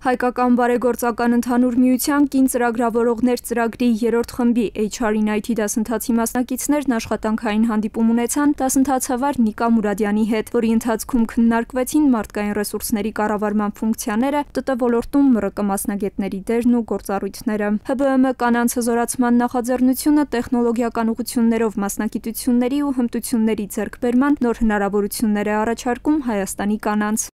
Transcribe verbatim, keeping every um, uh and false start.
Հայկական բարեգործական ընդհանուր միության կին ծրագրավորողներ ծրագրի երրորդ խմբի H R in I T դասընթացի մասնակիցներն աշխատանքային հանդիպում ունեցան դասընթացավար Նիկա Մուրադյանի հետ, որի ընթացքում քննարկվեցին մարդկային ռեսուրսների կառավարման ֆունկցիաները, T T ոլորտում M R K մասնագետների դերն ու գործառույթները։ H B M կանանց հզորացման նախաձեռնությունը տեխնոլոգիական ուղղություններով մասնագիտությունների ու հմտությունների ձեռքբերման նոր հնարավորություններ է առաջարկում Հայաստանի կանանց։